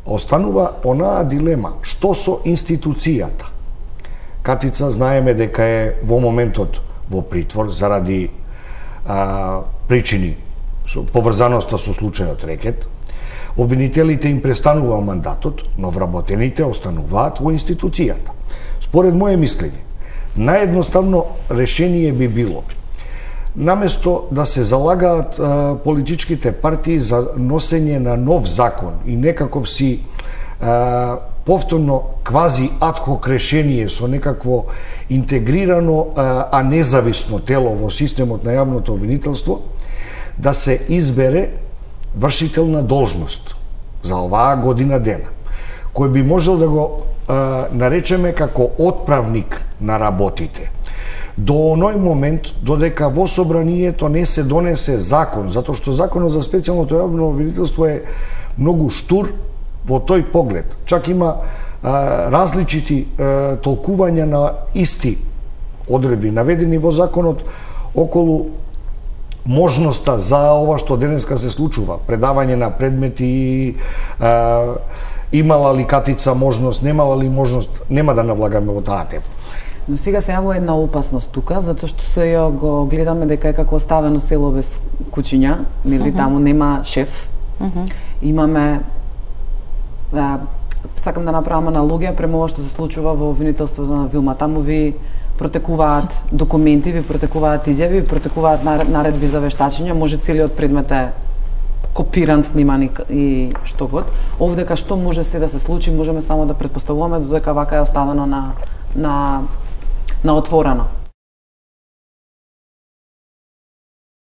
останува онаа дилема, што со институцијата. Катица знаеме дека е во моментот во притвор заради причини поврзаноста со случајот Рекет. Обвинителите им престанува мандатот, но вработените остануваат во институцијата. Според моје мислење, наједноставно решение би било наместо да се залагаат политичките партии за носење на нов закон и некаков си повторно квази адхок решение со некакво интегрирано, а независно тело во системот на јавното обвинителство, да се избере вршител на должност за оваа година дена, кој би можел да го наречеме како отправник на работите. До оној момент, додека во собранието не се донесе закон, затоа што законот за специјалното јавно обвинителство е многу штур во тој поглед. Чак има различити толкувања на исти одредби наведени во законот околу можноста за ова што денеска се случува, предавање на предмети, имала ли Катица можност, немала ли можност, нема да навлагаме во таа тема. Но сега се јавува една опасност тука, затоа што се го гледаме дека е како оставено село без кучиња, нели таму нема шеф. Имаме сакам да направам аналогија према ова што се случува во обвинителството на Вилма. Таму ви протекуваат документи, ви протекуваат изјави, ви протекуваат наредби за вештачење, може целиот предмет е копиран, сниман и што год. Овдека што може се да се случи, можеме само да претпоставуваме додека вака е оставено на отворено.